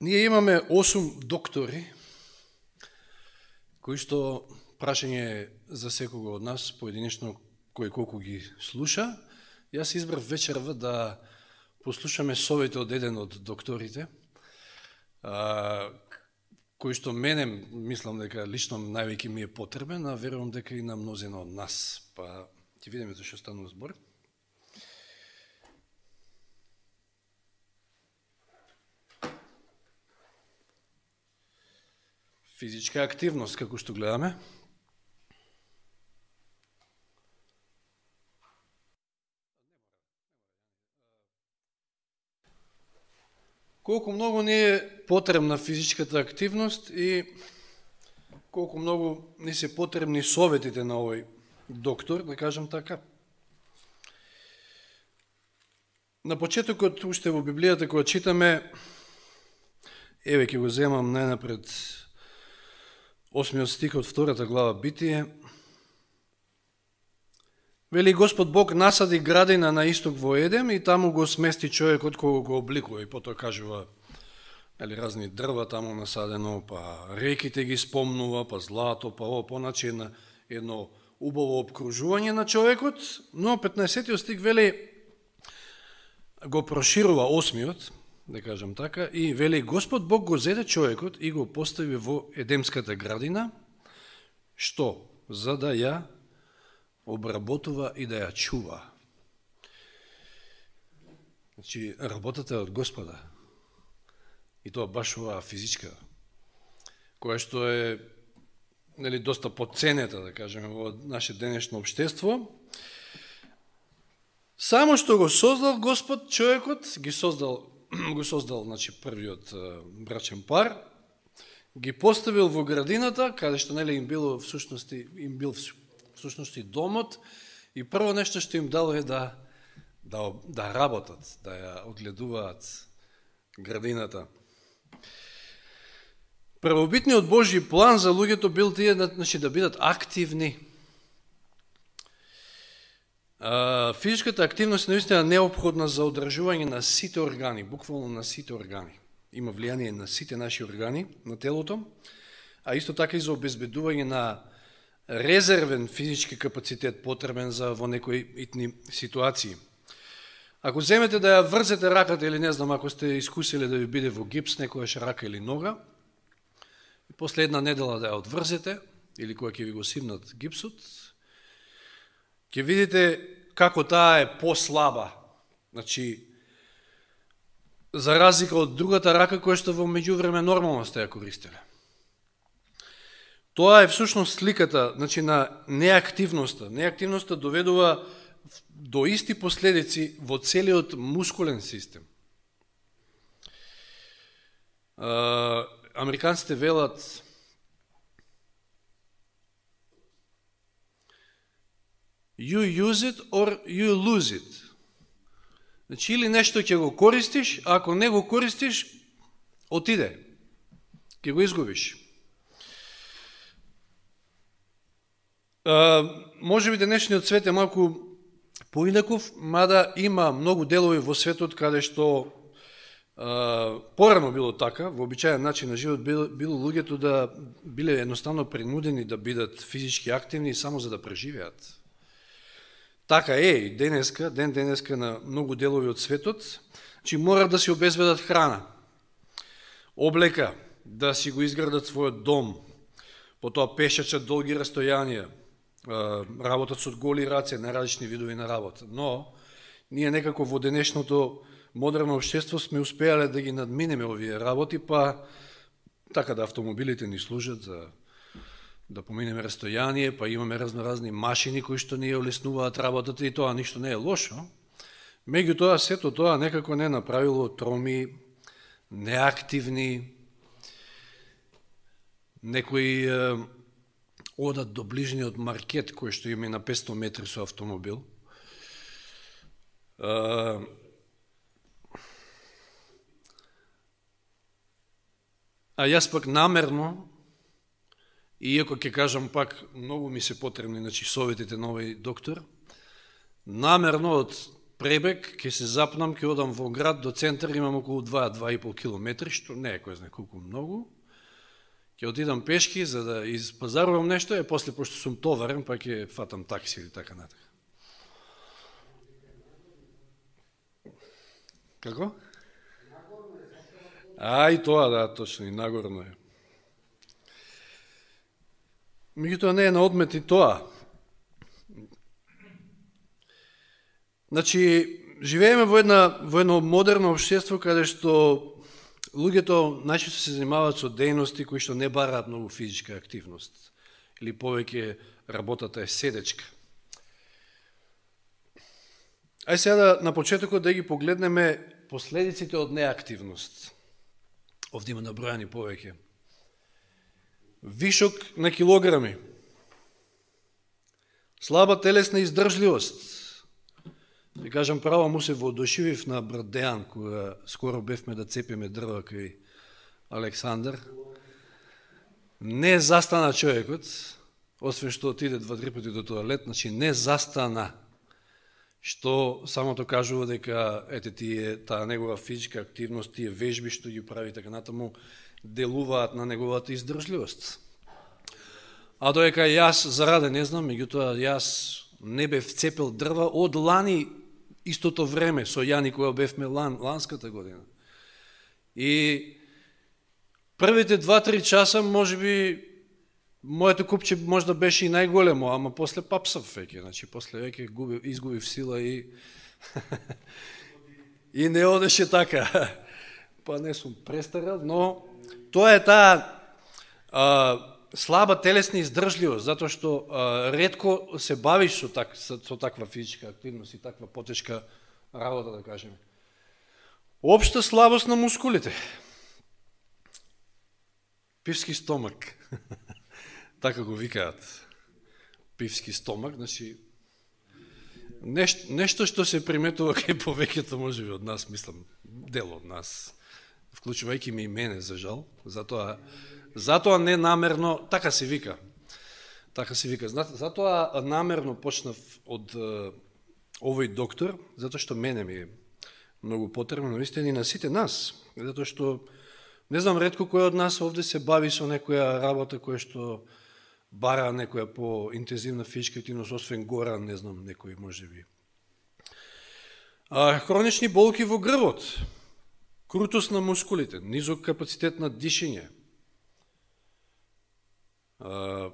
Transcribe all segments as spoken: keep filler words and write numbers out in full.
Ние имаме осум доктори, кои што прашање за секого од нас, поединечно кој колку ги слуша. Јас избрав вечерва да послушаме совети од еден од докторите, а, кој што мене, мислам дека лично највеќе ми е потребен, а верувам дека и на мнозина од нас. Па ќе видиме за што станува збор. Физичка активност, како што гледаме. Колку многу ни е потребна физичката активност и колку многу ни се потребни советите на овој доктор, да кажем така. На почетокот, уште во Библијата, кога читаме, еве ќе го земам најнапред осмиот стих од втората глава Битие. Вели, Господ Бог насади градина на исток во Едем и таму го смести човекот кога го обликува. И потоа кажува, ели, разни дрва таму насадено, па реките ги спомнува, па злато, па ово, поначе едно, едно убаво обкружување на човекот. Но петнаесеттиот стих вели, го проширува осмиот, да кажам така, и вели, Господ Бог го зеде човекот и го постави во Едемската градина, што? За да ја обработува и да ја чува. Значи, работата е од Господа. И тоа баш оваа физичка, која што е, нели, доста подценета, да кажеме, во наше денешно општество. Само што го создал Господ човекот, ги создал го создал, значи, првиот брачен пар, ги поставил во градината, каде што, нели, им било всушности, им бил всушности домот, и прво нешто што им дало е да, да, да работат, да ја одгледуваат градината. Првобитниот Божји план за луѓето бил тие, значи, да бидат активни. Физичката активност е наистина неопходна за одржување на сите органи, буквално на сите органи. Има влијание на сите наши органи на телото, а исто така и за обезбедување на резервен физички капацитет потребен за во некои итни ситуации. Ако земете да ја врзете раката или не знам, ако сте искусили да ви биде во гипс некојаш рака или нога, и после една недела да ја одврзете или кога ќе ви го симнат гипсот, ќе видите како таа е послаба. Значи, за разлика од другата рака која што во меѓувреме нормално сте ја користеле. Тоа е всушност сликата, значи, на неактивноста. Неактивноста доведува до исти последици во целиот мускулен систем. Американците велат you use it or you lose it. Значи, или нешто ќе го користиш, а ако не го користиш, отиде. Ќе го изгубиш. А, може би денешниот свет е малку поинаков, мада има многу делови во светот каде што а, порано било така, во обичаен начин на живот било, било луѓето да биле едноставно принудени да бидат физички активни само за да преживеат. Така е и денеска, ден денеска на многу делови од светот, че мора да си обезбедат храна, облека, да си го изградат својот дом, потоа пешачат долги растојанија, работат со голи раце, наразлични видови на работа. Но, ние некако во денешното модерно општество сме успеале да ги надминеме овие работи, па така да автомобилите ни служат за да поминеме растојание, па имаме разноразни машини кои што ни олеснуваат работата и тоа ништо не е лошо. Меѓутоа, сето тоа некако не направило троми, неактивни, некои е, одат до ближниот маркет кој што има на петстотини метри со автомобил. Е, а јас пак намерно, иако ќе кажам пак, многу ми се потребни, значи, советите на овој доктор, намерно од пребег, ќе се запнам, ќе одам во град до центар, имам околу два до два и пол километри, што не е кој знае колку многу. Ќе отидам пешки за да испазарувам нешто, и после пошто сум товарен, па ќе фатам такси или така натака. Како? А, и тоа, да, точно, и нагорно е. Меѓутоа не е на одмет и тоа. Значи, живееме во, една, во едно модерно општество каде што луѓето најчесто се занимаваат со дејности кои што не бараат многу физичка активност. Или повеќе работата е седечка. Ај сега да, на почетокот да ги погледнеме последиците од неактивност. Овде има набројани повеќе. Вишок на килограми, слаба телесна издржливост. Ви кажам право, му се воодушевив на брат Дејан, кога скоро бевме да цепиме дрва кај Александар. Не застана човекот, освен што отиде два-три пати до тоалет, значи не застана, што самото кажува дека ете тие таа негова физичка активност, тие вежби што ги прави така натаму, делуваат на неговата издржливост. А доека јас зараде не знам, меѓутоа јас не бев цепил дрва од лани истото време со Јани кога бевме лан, ланската година. И првите два-три часа можеби моето купче можда беше и најголемо, ама после папсав веќе, значи после веќе губив, изгубив сила и и не одеше така. Па не сум престарел, но тоа е таа а, слаба телесна издржливост, затоа што а, ретко се бавиш со, так, со, со таква физичка активност и таква потешка работа, да кажеме. Општа слабост на мускулите. Пивски стомак. Така го викаат. Пивски стомак, значи нешто, нешто што се приметува кај повеќето можеби од нас, мислам, дел од нас, вклучувајќи ми и мене, за жал, затоа Затоа не намерно, така се вика, така се вика, затоа намерно почнав од е, овој доктор, затоа што мене ми е многу потребно, но истина и на сите нас, затоа што, не знам, ретко кој од нас овде се бави со некоја работа која што бара некоја по-интензивна физичка активност, освен Горан, не знам, некој може би. А, хронични болки во грбот, крутост на мускулите, низок капацитет на дишење, Uh,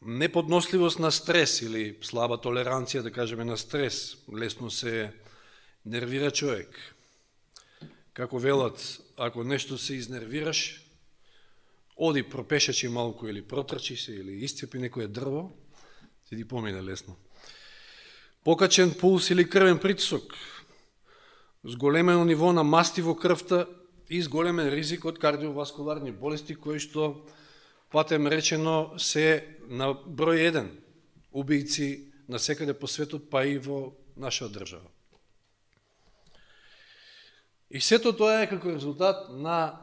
неподносливост на стрес или слаба толеранција, да кажеме, на стрес, лесно се нервира човек. Како велат, ако нешто се изнервираш, оди пропешачи малку или протрчи се или исцепи некоје дрво, се ти помине лесно. Покачен пулс или крвен притисок, зголемено ниво на масти во крвта и зголемен ризик од кардиоваскуларни болести, кои што патем речено се на број еден убијци на секаде по светот, па и во наша држава. И сето тоа е како резултат на,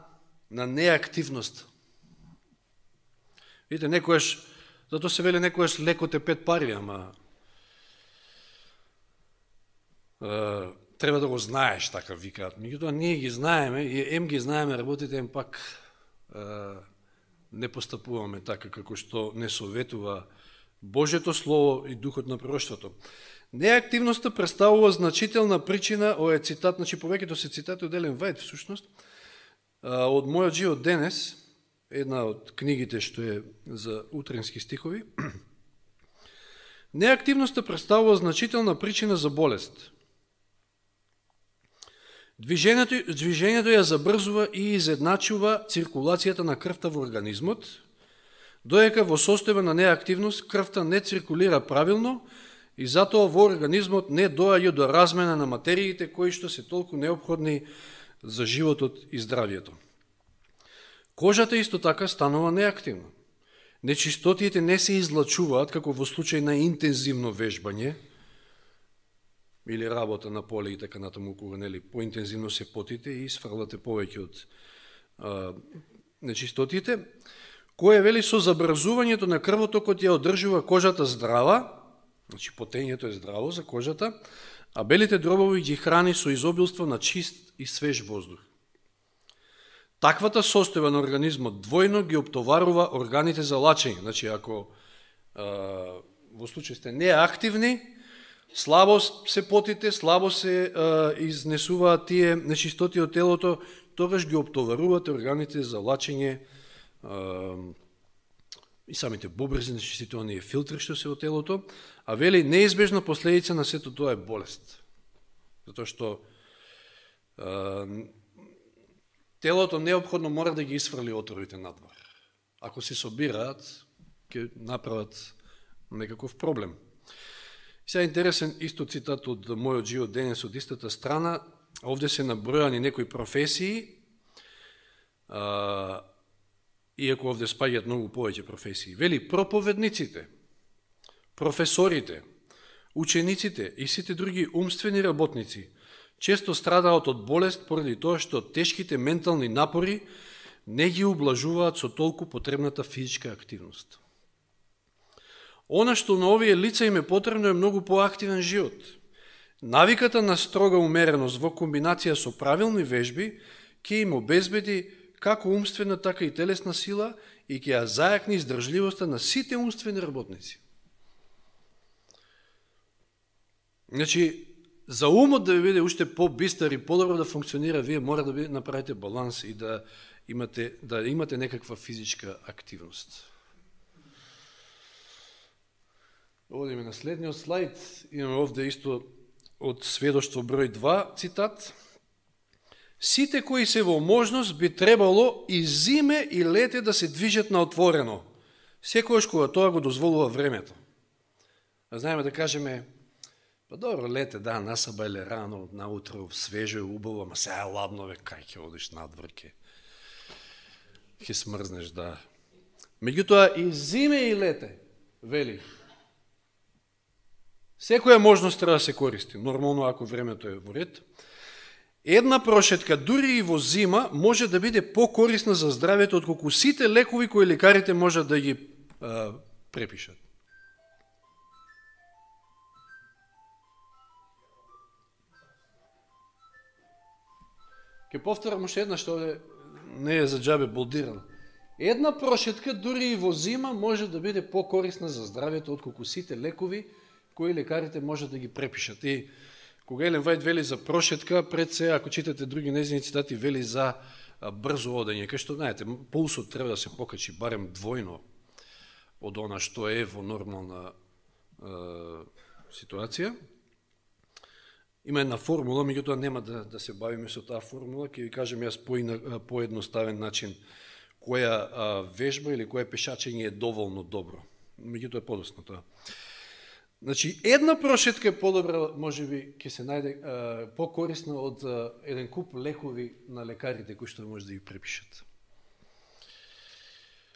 на неактивност. Видите, некојаш, зато се вели некојаш лекот е пет пари, ама е, треба да го знаеш, така викаат. Меѓутоа ние ги знаеме, и ем ги знаеме работите, ем пак е, не постапуваме така како што не советува Божјето Слово и Духот на пророштвото. Неактивноста представува значителна причина, ова е цитат, значи повеќето се цитати од Елен Вајд, всушност, од мојот живот денес, една од книгите што е за утренски стихови. Неактивноста представува значителна причина за болест. Движењето, движењето ја забрзува и изедначува циркулацијата на крвта во организмот, доека во состојба на неактивност крвта не циркулира правилно и затоа во организмот не доаѓа до размена на материите кои што се толку неопходни за животот и здравието. Кожата исто така станува неактивна. Нечистотиите не се излачуваат како во случај на интензивно вежбање, или работа на поле и така натаму, кога нели поинтензивно се потите и сфрлате повеќе од а, нечистотиите, кое вели со забрзувањето на крвотокот ја одржува кожата здрава, значи потењето е здраво за кожата, а белите дробови ги храни со изобилство на чист и свеж воздух. Таквата состојба на организмот двојно ги оптоварува органите за лачење. Значи, ако а, во случај сте неактивни, слабо се потите, слабо се а, изнесуваат тие нечистоти од телото, тогаш ги оптоварувате органите за лачење а, и самите бубрези, нечистите оние филтри што се од телото, а вели неизбежна последица на сето тоа е болест. Затоа што а, телото неопходно мора да ги исфрли отровите надвор. Ако се собираат, ќе направат некаков проблем. Сега интересен исто цитат од мојот живот денес од истата страна. Овде се набројани некои професии, а, иако овде спаѓаат многу повеќе професии. Вели, проповедниците, професорите, учениците и сите други умствени работници често страдаат од болест поради тоа што тешките ментални напори не ги ублажуваат со толку потребната физичка активност. Она што на овие лица им е потребно е многу поактивен живот. Навиката на строга умереност во комбинација со правилни вежби ќе им обезбеди како умствена, така и телесна сила и ќе ја зајакни издржливоста на сите умствени работници. Значи, за умот да ви биде уште по-бистар и подобро да функционира, вие мора да направите баланс и да имате, да имате некаква физичка активност. Одиме на следниот слайд. Имаме овде исто од сведоштво број два цитат. Сите кои се во можност би требало и зиме и лете да се движат на отворено, секојаш кога тоа го дозволува времето. А знаеме да кажеме, па добро, лете, да, насабајле рано, наутро, свежо и убаво, ама сега е ладно, бе, кај ќе одиш надвор, ке, ке смрзнеш, да. Меѓутоа, и зиме и лете, вели, секоја можност треба да се користи, нормално ако времето е во ред. Една прошетка, дури и во зима, може да биде покорисна за здравјето од колку сите лекови кои лекарите можат да ги а, препишат. Ке повторам уште една што не е за џабе болдирано. Една прошетка, дури и во зима, може да биде покорисна за здравјето од колку сите лекови кои лекарите можат да ги препишат. И кога Елен Вајд вели за прошетка, пред се, ако читате други нејзини цитати, вели за брзо одење, кај што, знаете, пулсот треба да се покачи барем двојно од она што е во нормална е, ситуација. Има една формула, меѓутоа нема да, да се бавиме со таа формула, ќе ви кажем јас по, по едноставен начин која а, вежба или која пешачење е доволно добро. Меѓутоа е подосно тоа. Значи, една прошетка е подобра, може би, ќе се најде а, по-корисна од а, еден куп лекови на лекарите кои што може да ги препишат.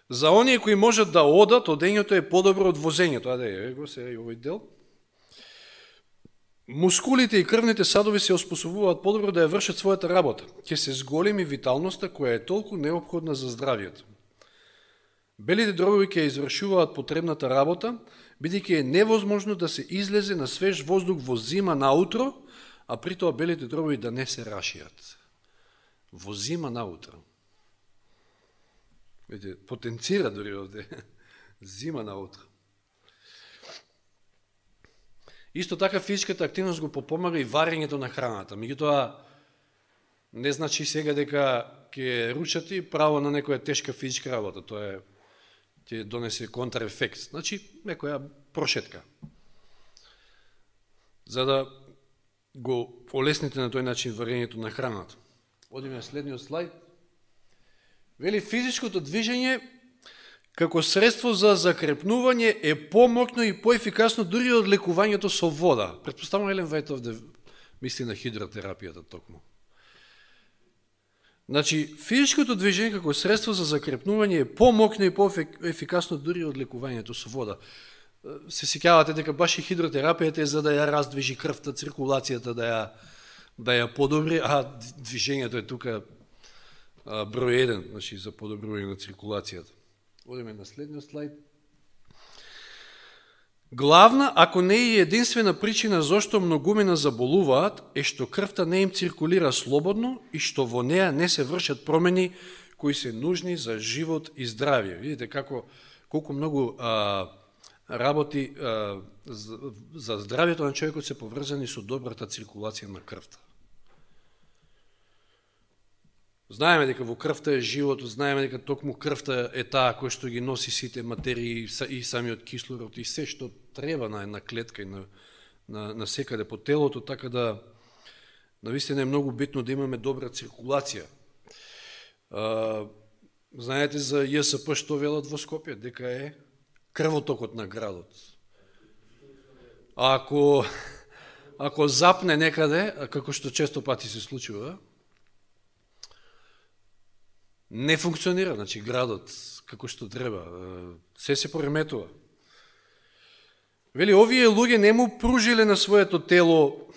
За оние кои можат да одат, одењето е подобро од возењето. А да е, го се и овој дел. Мускулите и крвните садови се оспособуваат подобро да ја вршат својата работа. Ќе се зголеми виталноста која е толку неопходна за здравието. Белите дробови ќе извршуваат потребната работа, бидејќи е невозможно да се излезе на свеж воздух во зима наутро, а при тоа белите дробови да не се рашијат. Во зима наутро. Видите, потенцира дори овде. Зима наутро. Исто така физичката активност го попомага и варењето на храната. Меѓутоа, не значи сега дека ќе ручати право на некоја тешка физичка работа. Тоа е ќе донесе контраефект. Значи, некоја прошетка. За да го олесните на тој начин варењето на храната. Одиме на следниот слайд. Вели, физичкото движење како средство за закрепнување е помокно и поефикасно дури од лекувањето со вода. Претпоставам Елен Вајд овде мисли на хидротерапијата токму. Значи, физичкото движење како средство за закрепнување е помокно и поефикасно дури од лекувањето со вода. Се сеќавате дека баш и хидротерапијата е за да ја раздвижи крвта, циркулацијата, да ја, да ја подобри, а движењето е тука број еден, значи за подобрување на циркулацијата. Одиме на следниот слайд. Главна, ако не е единствена причина зашто многумина заболуваат, е што крвта не им циркулира слободно и што во неа не се вршат промени кои се нужни за живот и здравје. Видите како колку многу а, работи а, за, за здравјето на човекот се поврзани со добрата циркулација на крвта. Знаеме дека во крвта е живот, знаеме дека токму крвта е таа која што ги носи сите материи и самиот кислород и се што треба на една клетка и на, на, на секаде по телото, така да навистина е многу битно да имаме добра циркулација. А, знаете за Ја С П што велат во Скопје, дека е крвотокот на градот. А ако, ако запне некаде, како што често пати се случува, не функционира, значи градот како што треба, се се пореметува. Вели, овие луѓе не му пружиле на своето тело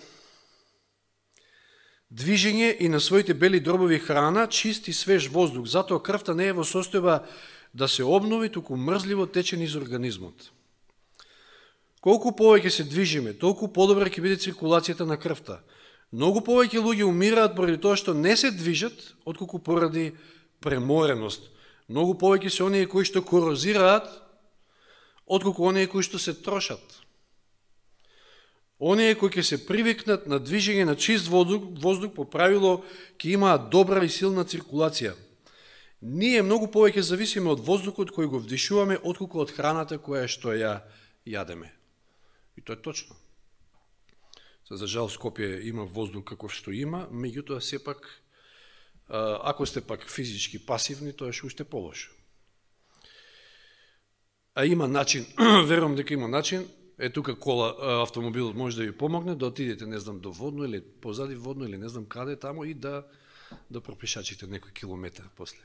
движење и на своите бели дробови храна, чист и свеж воздух, затоа крвта не е во состојба да се обнови, туку мрзливо тече низ организмот. Колку повеќе се движиме, толку подобра ќе биде циркулацијата на крвта. Многу повеќе луѓе умираат поради тоа што не се движат, отколку поради премореност. Многу повеќе се оние кои што корозираат, отколку оние кои што се трошат. Оние кои ќе се привикнат на движење на чист воздух, воздух по правило ќе имаат добра и силна циркулација. Ние многу повеќе зависиме од воздухот кој го вдишуваме, отколку од храната која што ја јадеме. И тоа е точно. За жал Скопје има воздух каков што има, меѓутоа сепак ако сте пак физички пасивни, тоа е уште полошо. А има начин, верувам дека има начин, е тука кола, автомобилот може да ви помогне, да отидете, не знам, до водно или позади водно или не знам каде тамо и да, да пропишачите некој километар после.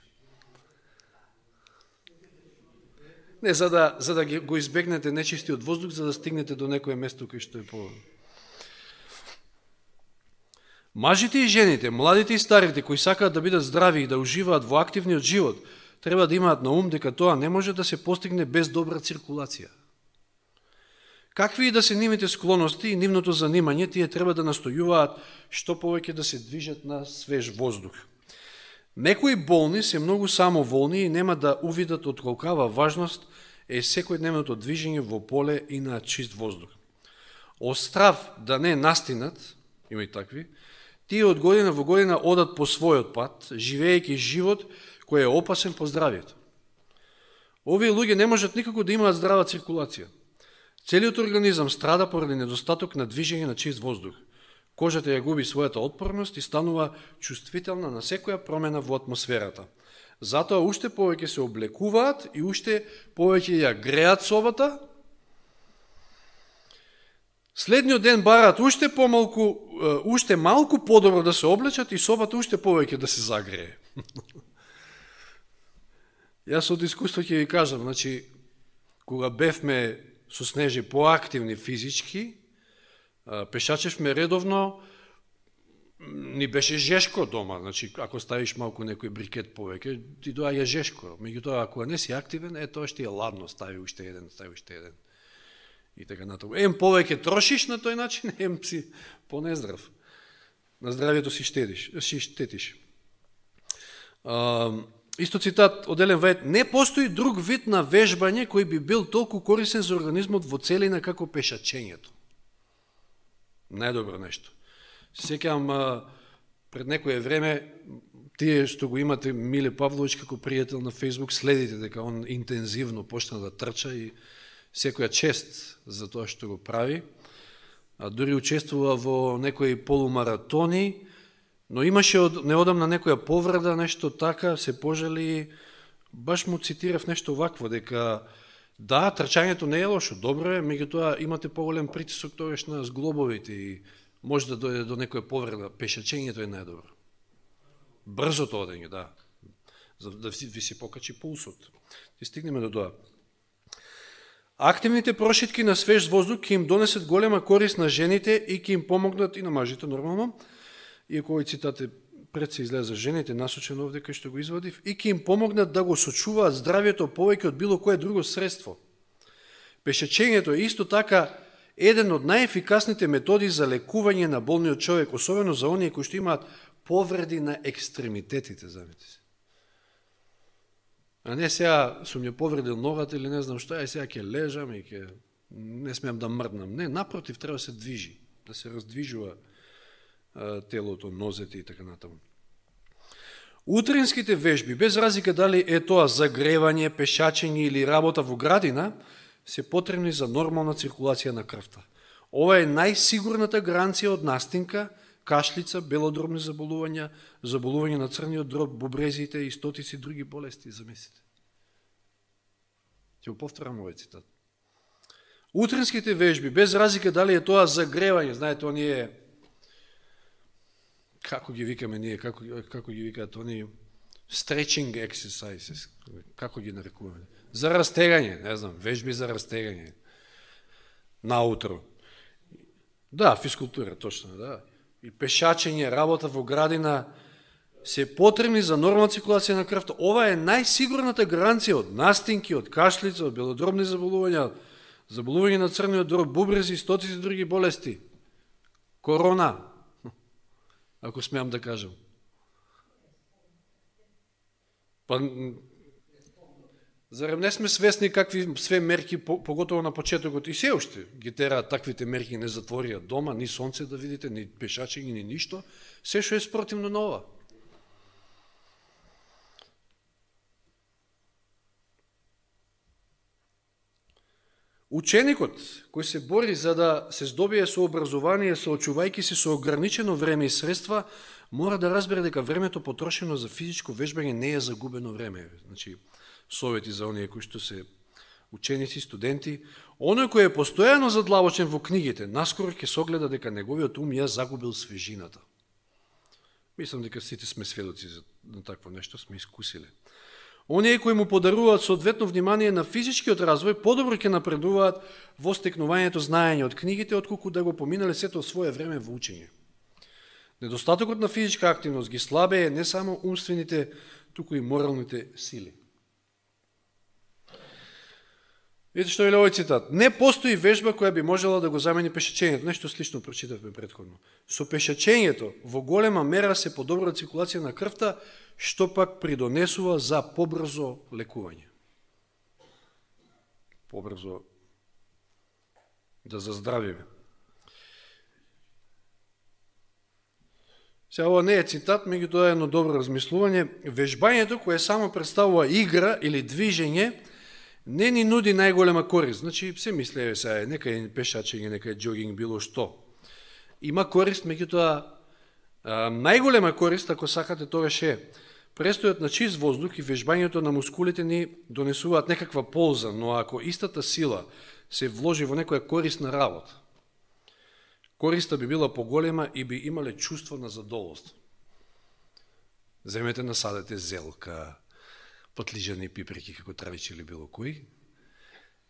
Не, за да, за да го избегнете нечистиот воздух, за да стигнете до некое место кај што е по... Мажите и жените, младите и старите, кои сакаат да бидат здрави и да уживаат во активниот живот, треба да имаат на ум дека тоа не може да се постигне без добра циркулација. Какви и да се нивните склоности и нивното занимање, тие треба да настојуваат што повеќе да се движат на свеж воздух. Некои болни се многу самоволни и нема да увидат од колкава важност е секојдневното движење во поле и на чист воздух. Од страв да не настинат, има и такви, тие од година во година одат по својот пат, живеејќи живот кој е опасен по здравјето. Овие луѓе не можат никако да имаат здрава циркулација. Целиот организам страда поради недостаток на движење на чист воздух. Кожата ја губи својата отпорност и станува чувствителна на секоја промена во атмосферата. Затоа уште повеќе се облекуваат и уште повеќе ја греат собата. Следниот ден бараат уште помалку, уште малку подобро да се облечат и собата уште повеќе да се загрее. Јас од искуство ќе ви кажам, значи, кога бевме со Снежи поактивни физички, пешачевме редовно, ни беше жешко дома, значи, ако ставиш малку некој брикет повеќе, ти доаѓа жешко. Меѓутоа, ако не си активен, е тоа ще е ладно, стави уште еден, стави уште еден. И така натаму. Ем повеќе трошиш на тој начин, ем си понездрав. На здравјето си штедиш, си штетиш. А, исто цитат од Елен Вајд: не постои друг вид на вежбање кој би бил толку корисен за организмот во целина како пешачењето. Најдобро нешто. Сеќавам пред некое време, тие што го имате Миле Павлович како пријател на Facebook, следите дека он интензивно почна да трча и секоја чест за тоа што го прави. А дури учествува во некои полумаратони, но имаше од, неодамна некоја повреда, нешто така, се пожали, баш му цитирав нешто вакво, дека да, трчањето не е лошо, добро е, меѓутоа имате поголем притисок тогаш на зглобовите и може да дојде до некоја повреда. Пешачењето е најдобро. Брзото одење, да, за да ви се покачи пулсот. И стигнеме до тоа. Активните прошитки на свеж воздух ќе им донесат голема корист на жените и ќе им помогнат и на мажите нормално. Иако овој цитат е пред се излезе за жените, насочен овде кај што го извадив, и ќе им помогнат да го сочуваат здравјето повеќе од било кое друго средство. Пешачењето е исто така еден од најефикасните методи за лекување на болниот човек, особено за оние кои што имаат повреди на екстремитетите, замете се. А не сега сум ја повредил ногата или не знам што, ај сега ќе лежам и ќе не смеам да мрднам. Не, напротив, треба да се движи, да се раздвижува а, телото, нозете и така натаму. Утринските вежби, без разлика дали е тоа загревање, пешачење или работа во градина, се потребни за нормална циркулација на крвта. Ова е најсигурната гаранција од настинка, кашлица, белодробни заболувања, заболување на црниот дроб, бубрезите и стотици други болести, замислите. Ќе го повторам овој цитат. Утринските вежби, без разлика дали е тоа загревање, знаете, оние, како ги викаме ние, како, како ги викаат оние, stretching exercises, како ги нарекуваме, за растегање, не знам, вежби за растегање, наутро. Да, физкултура, точно, да. И пешачење, работа во градина, се потребни за нормална циркулација на крвта. Ова е најсигурната гаранција од настинки, од кашлица, од белодробни заболувања, заболување на црниот дроб, бубрези, стотици други болести. Корона, ако смеам да кажам. Па, зарем не сме свесни какви све мерки, поготово на почетокот, и се уште ги тераат таквите мерки, не затворија дома, ни сонце да видите, ни пешачење, ни ништо, се што е спротивно на ова. Ученикот, кој се бори за да се здобие со образование, соочувајќи се со ограничено време и средства, мора да разбере дека времето потрошено за физичко вежбање не е загубено време. Значи, совети за оние кои што се ученици, студенти. Оној кој е постојано задлабочен во книгите, наскоро ќе согледа дека неговиот ум ја загубил свежината. Мислам дека сите сме сведоци на такво нешто, сме искусиле. Оние кои му подаруваат соодветно внимание на физичкиот развој, подобро ќе напредуваат во стекнувањето знаење од книгите, отколку да го поминале сето своје време во учење. Недостатокот на физичка активност ги слабее не само умствените, туку и моралните сили. Видите што е овој цитат. Не постои вежба која би можела да го замени пешачењето. Нешто слично прочитавме претходно. Со пешачењето во голема мера се подобра циркулација на крвта, што пак придонесува за побрзо лекување. Побрзо да заздравиме. Сега, ова не е цитат, меѓутоа е едно добро размислување. Вежбањето, кое само представува игра или движење, не ни нуди најголема корист. Значи, се мислеве сега, нека е пешачење, нека е джогинг, било што. Има корист, меѓутоа, најголема корист, ако сакате, тогаш е престојот на чист воздух и вежбањето на мускулите ни донесуваат некаква полза, но ако истата сила се вложи во некоја корисна работа, користа би била поголема и би имале чувство на задоволство. Земете, насадете зелка, патлижани пипреки, како травичи или било кој,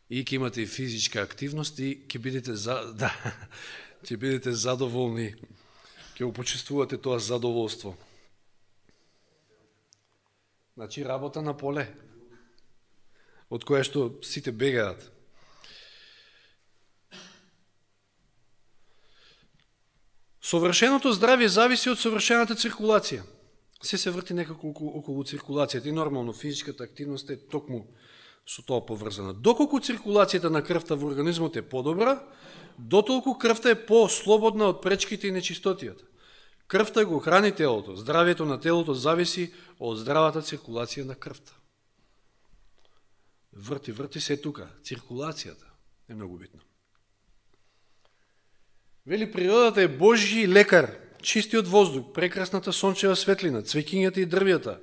и ќе имате и физичка активност и ќе бидете, за, да, ќе бидете задоволни, ќе почувствувате тоа задоволство. Значи, работа на поле, од која што сите бегаат. Совршеното здравје зависи од совршената циркулација. Се се врти некако околу циркулацијата и нормално физичката активност е токму со тоа поврзана. Доколку циркулацијата на крвта во организмот е подобра, дотолку крвта е по-слободна од пречките и нечистотијата. Крвта го храни телото, здравјето на телото зависи од здравата циркулација на крвта. Врти, врти се тука. Циркулацијата е многу битна. Вели, природата е Божји лекар, чистиот воздух, прекрасната сончева светлина, цвеќињата и дрвјата,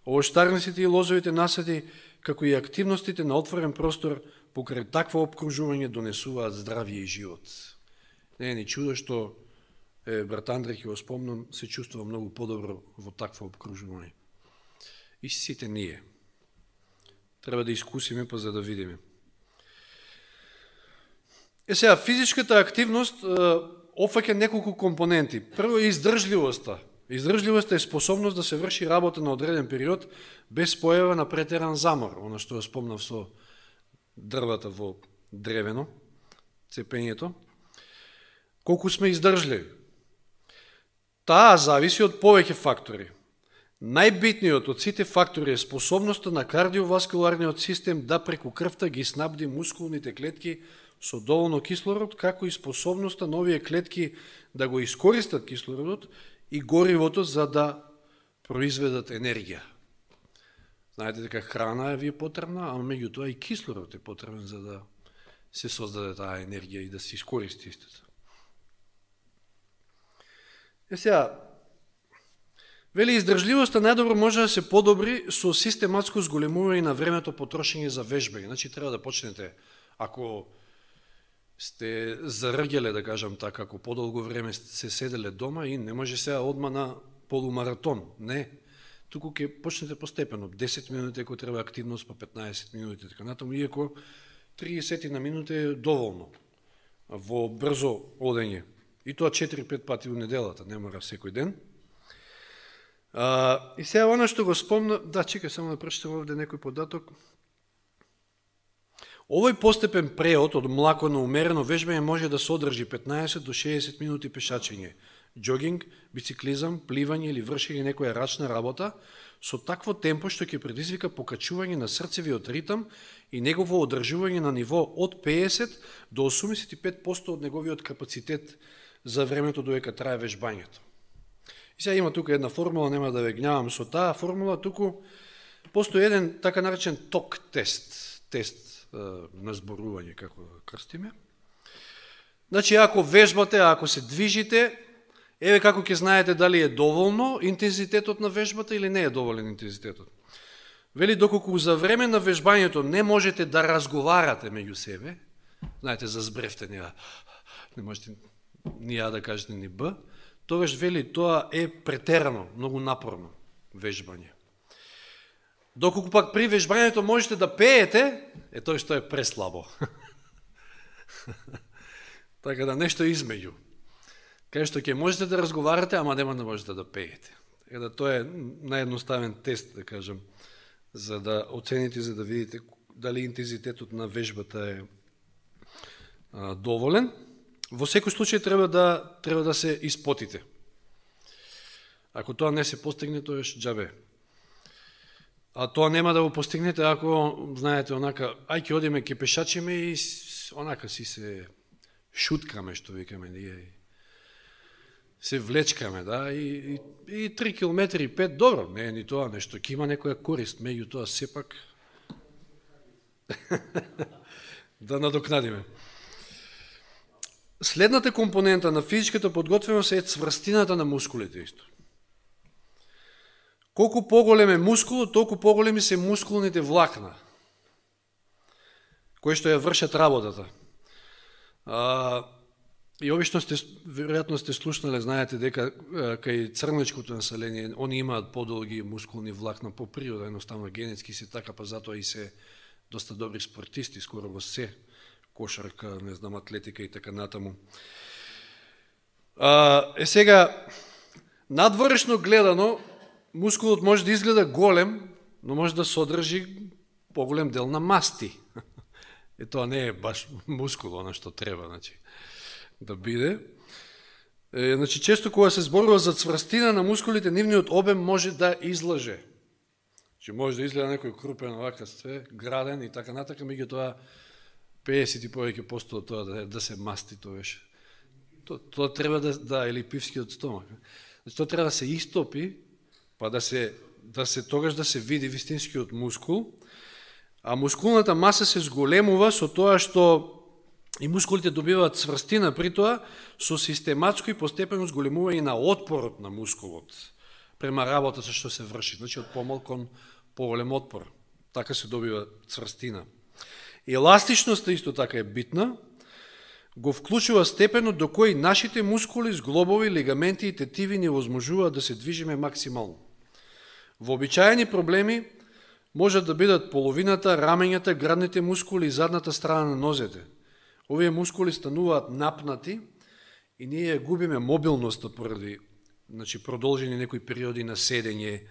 овоштарниците и лозовите насади, како и активностите на отворен простор, покрај такво обкружување донесуваат здравје и живот. Не е ни чудо што е, брат Андре, ќе го спомнам, се чувствува многу подобро во такво обкружување. И сите ние. Треба да искусиме, па за да видиме. Е сега, физичката активност опфаќа неколку компоненти. Прво е издржливоста. Издржливоста е способност да се врши работа на одреден период без појава на претеран замор, оно што ја спомнав со дрвата во древено, цепењето, колку сме издржливи. Таа зависи од повеќе фактори. Најбитниот од сите фактори е способноста на кардиоваскуларниот систем да преку крвта ги снабди мускулните клетки со доволно кислород, како и способноста на овие клетки да го искористат кислородот и горивото за да произведат енергија. Знаете дека храна е ви потребна, а меѓутоа и кислород е потребен за да се создаде таа енергија и да се искористи истото. Е сега, вели, издржливоста најдобро може да се подобри со систематско зголемување на времето потрошење за вежбање. Значи, треба да почнете, ако сте заргеле, да кажам така, ако подолго време се седеле дома и не може сега одма на полумаратон. Не. Туку ќе почнете постепено. десет минути, ако треба активност, па петнаесет минути, така натаму, иако триесет на минути е доволно во брзо одење. И тоа четири-пет пати во неделата, не мора секој ден. А, и сега оно што го спомна, да, чекај само да прочитам овде некој податок. Овој постепен преод од млако на умерено вежбање може да содржи петнаесет до шеесет минути пешачење, џогинг, бициклизам, пливање или вршење некоја рачна работа со такво темпо што ќе предизвика покачување на срцевиот ритам и негово одржување на ниво од пеесет до осумдесет и пет проценти од неговиот капацитет за времето додека трае вежбањето. И сега има тука една формула, нема да ве гневам со таа формула, туку постои еден така наречен ток тест, тест е, на зборување, како да крстиме. Значи, ако вежбате, ако се движите, еве како ќе знаете дали е доволно интензитетот на вежбата или не е доволен интензитетот. Вели, доколку за време на вежбањето не можете да разговарате меѓу себе, знаете, за збревте, не, не можете ни А да кажете ни Б, тогаш вели тоа е претерано, многу напорно вежбање. Доколку пак при вежбањето можете да пеете, е тоа што е преслабо. Така да нешто измеѓу. Кај што ќе можете да разговарате, ама нема да можете да пеете. Така да тоа е наједноставен тест, да кажам, за да оцените, за да видите дали интензитетот на вежбата е а, доволен. Во секој случај треба да треба да се испотите. Ако тоа не се постигне, тоа е џабе. А тоа нема да го постигнете ако знаете онака, ај ќе одиме ќе пешачиме и онака си се шуткаме, што викаме ние. Се влечкаме, да, и, и, и три километри и пет, добро, не е ни тоа нешто, ќе има некоја корист, меѓу тоа сепак да надокнадиме. Следната компонента на физичката подготвеност е цврстината на мускулите исто. Колку поголем е мускулот, толку поголеми се мускулните влакна, кои што ја вршат работата. А, и обично сте, веројатно сте слушнале, знаете дека кај црнечкото население, они имаат подолги мускулни влакна по природа, едноставно генетски се така, па затоа и се доста добри спортисти, скоро во се, кошарка, не знам, атлетика и така натаму. А, е сега, надворешно гледано, мускулот може да изгледа голем, но може да содржи поголем дел на масти. Е, тоа не е баш мускул, оно што треба, значи, да биде. Е, значи, често кога се зборува за цврстина на мускулите, нивниот обем може да излаже. Значи, може да изгледа некој крупен, овака све, граден и така натака, меѓутоа пеесет и повеќе посто од тоа да, да се масти, тоа беше. Тоа, тоа треба да, да, или пивскиот стомак. Значи, тоа треба да се истопи, па да се, да се тогаш да се види вистинскиот мускул, а мускулната маса се зголемува со тоа што и мускулите добиваат цврстина при тоа со систематско и постепено зголемување на отпорот на мускулот према работата што се врши, значи од помал кон поголем отпор. Така се добива цврстина. Еластичноста исто така е битна, го вклучува степенот до кој нашите мускули, зглобови, лигаменти и тетиви ни возможуваат да се движиме максимално. Вообичаени проблеми можат да бидат половината, рамењата, градните мускули и задната страна на нозете. Овие мускули стануваат напнати и ние губиме мобилноста поради, значи, продолжени некои периоди на седење,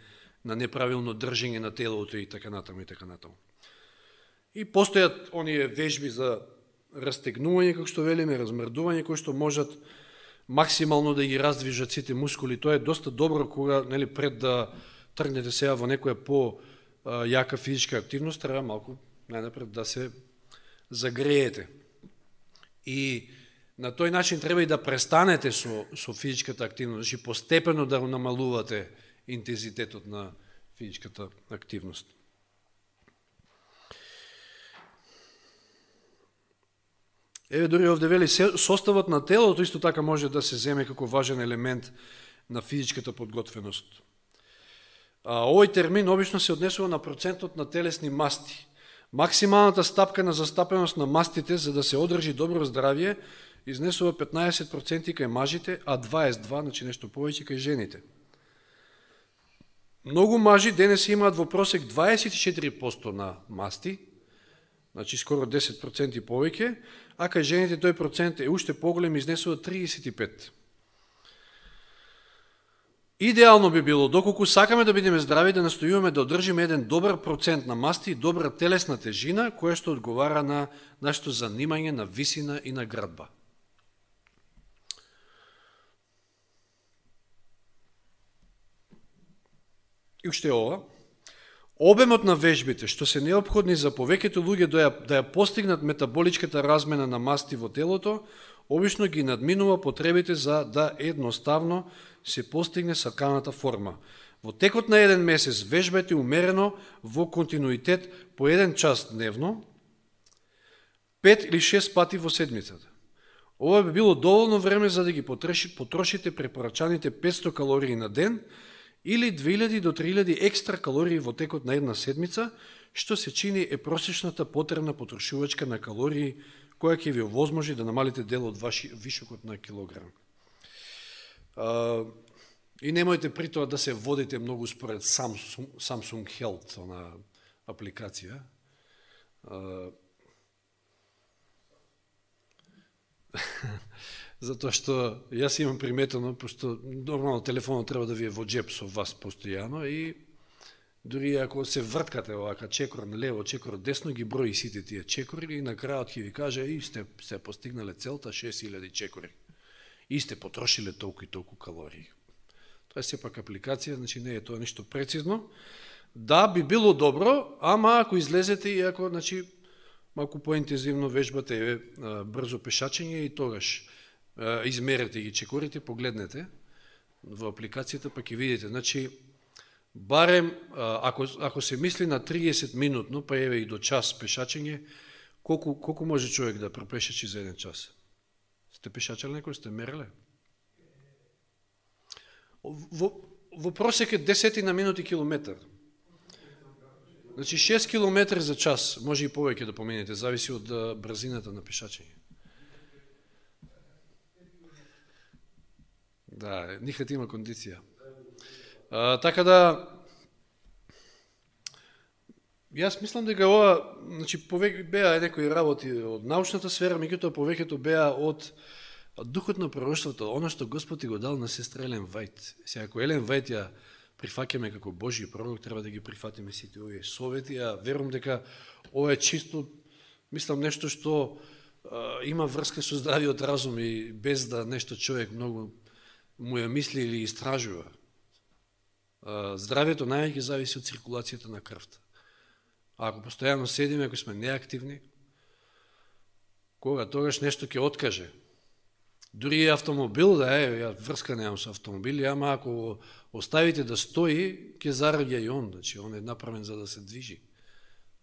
на неправилно држење на телото и така натаму и така натаму. И постојат оние вежби за растегнување, како што велиме, размрдување, кои што можат максимално да ги раздвижат сите мускули. Тоа е доста добро кога, нели, пред да тргнете сега во некоја по јака физичка активност, треба малку најнапред да се загреете. И на тој начин треба и да престанете со, со физичката активност, значи постепено да намалувате интензитетот на физичката активност. Еве, дори овде вели, составот на телото исто така може да се земе како важен елемент на физичката подготвеност. А, овој термин обично се однесува на процентот на телесни масти. Максималната стапка на застапеност на мастите за да се одржи добро здравје изнесува петнаесет проценти кај мажите, а дваесет и два, значи нешто повеќе кај жените. Многу мажи денес имаат во просек дваесет и четири проценти на масти, значи скоро десет проценти повеќе, а кај жените тој процент е уште поголем, изнесува триесет и пет проценти. Идеално би било, доколку сакаме да бидеме здрави, да настојуваме да одржиме еден добар процент на масти и добра телесна тежина, која што одговара на нашето занимање, на висина и на градба. И уште ова, обемот на вежбите, што се неопходни за повеќето луѓе да ја, да ја постигнат метаболичката размена на масти во телото, обично ги надминува потребите за да едноставно се постигне саканата форма. Во текот на еден месец вежбете умерено во континуитет по еден час дневно, пет или шест пати во седмицата. Ова би било доволно време за да ги потрошите препорачаните петсто калории на ден или две илјади до три илјади екстра калории во текот на една седмица, што се чини е просечната потребна потрошувачка на калории која ќе ви овозможи да намалите дел од ваши вишокот на килограм. Uh, и немојте при тоа да се водите многу според Samsung, Samsung Health, она апликација. Uh, Затоа што јас имам приметено, пошто нормално телефонот треба да ви е во джеп со вас постојано и дури ако се врткате овака чекор лево, чекор десно, ги брои сите тие чекори и на крајот ќе ви каже и сте се постигнале целта шест илјади чекори. И сте потрошиле толку и толку калории. Тоа е сепак апликација, значи не е тоа ништо прецизно. Да, би било добро, ама ако излезете и ако, значи, малку поинтензивно вежбате е, брзо пешачење и тогаш е, измерете ги чекорите, погледнете во апликацијата, па ќе видите. Значи, барем, ако, ако се мисли на триесет минутно, па еве и до час пешачење, колку, колку може човек да пропешачи за еден час? Сте пешачали некој, сте мереле? Во, во просек е десетина минути километар. Значи шест километри за час, може и повеќе да поменете, зависи од брзината на пешачење. Да, Нихат има кондиција. А, така да, јас мислам дека ова, значи, повеќе беа некои работи од научната сфера, меѓутоа повеќето беа од духот на пророштвото, оно што Господ го дал на сестра Елен Вајт. Сега, ако Елен Вајт ја прифаќаме како Божји пророк, треба да ги прифатиме сите овие совети, а верувам дека ова е чисто, мислам, нешто што а, има врска со здравиот разум и без да нешто човек многу му ја мисли или истражува. А, здравието највеќе зависи од циркулацијата на крвта. А ако постојано седиме, ако сме неактивни, кога тогаш нешто ќе откаже. Дури и автомобил, да е, ја врска немам со автомобили, ама ако оставите да стои, ќе зараѓа и он, значи он е направен за да се движи,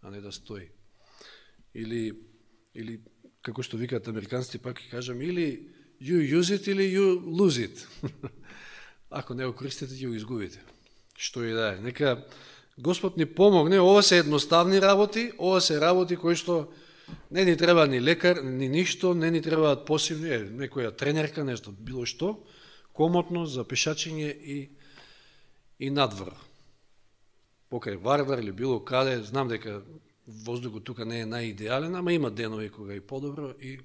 а не да стои. Или, или како што викаат американците, пак ќе кажам, или you use it, или you lose it. Ако не го користите, ќе го изгубите. Што и да е. Нека Господ ни помогне, ова се едноставни работи, ова се работи кои што не ни треба ни лекар, ни ништо, не ни требаат посебни, е, некоја тренерка, нешто, било што, комотно за пешачење и, и надвор. Покај Вардар или било каде, знам дека воздухот тука не е најидеален, ама има денови кога е подобро, и,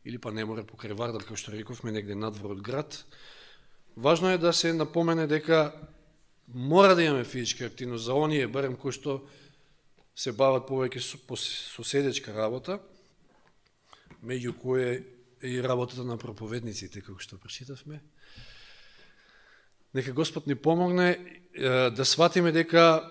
или па не мора покај Вардар, како што рековме, негде надвор од град. Важно е да се напомене дека мора да имаме физичка активност за оние, барем кои што се бават повеќе со, со седечка работа, меѓу кое е и работата на проповедниците, како што прочитавме. Нека Господ ни помогне да сватиме дека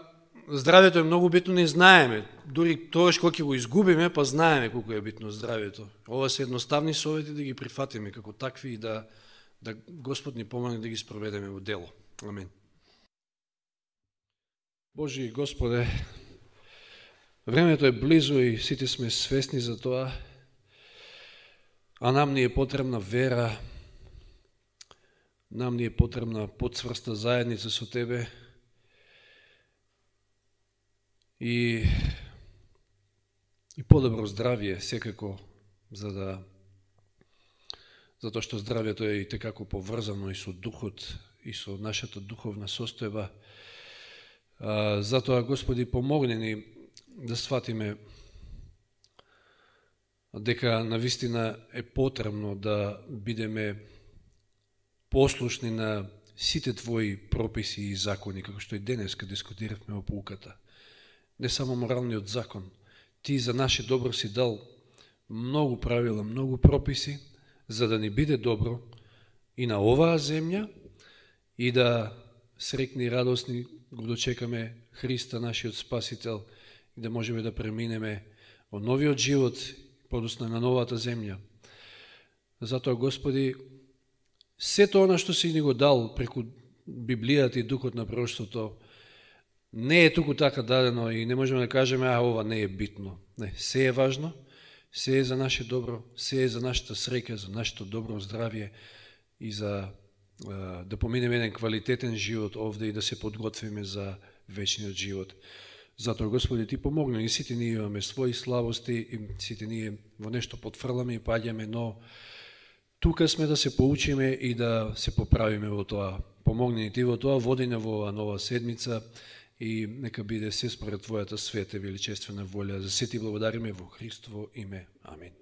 здравјето е многу битно, не знаеме. Дури тоа што ќе го изгубиме, па знаеме колку е битно здравјето. Ова се едноставни совети да ги прифатиме како такви и да, да Господ ни помогне да ги спроведеме во дело. Амин. Божи Господе, времето е близо и сите сме свесни за тоа, а нам ни е потребна вера, нам ни е потребна подцврста заедница со Тебе и, и подобро здравје секако, за да затоа што здравјето е и текако поврзано и со духот и со нашата духовна состојба. А, затоа, Господи, помогни ни да сватиме дека навистина е потребно да бидеме послушни на сите Твои прописи и закони, како што и денеска дискутиравме во поуката. Не само моралниот закон. Ти за наше добро си дал многу правила, многу прописи, за да ни биде добро и на оваа земја, и да срекни и радосни го дочекаме Христа, нашиот Спасител, и да можеме да преминеме во новиот живот, подоцна на новата земја. Затоа, Господи, сето она што си ни го дал преку Библијата и Духот на пророштвото, не е туку така дадено и не можеме да кажеме, а ова не е битно. Не, се е важно, се е за наше добро, се е за нашата среќа, за нашето добро здравје и за да поминеме еден квалитетен живот овде и да се подготвиме за вечниот живот. Затоа, Господи, Ти помогни, и сите ние имаме своји слабости, и сите ние во нешто потфрламе и паѓаме, но тука сме да се поучиме и да се поправиме во тоа. Помогни ни Ти во тоа, води на во оваа нова седмица и нека биде се според Твојата света и величествена волја. За се Ти благодариме во Христово име. Амин.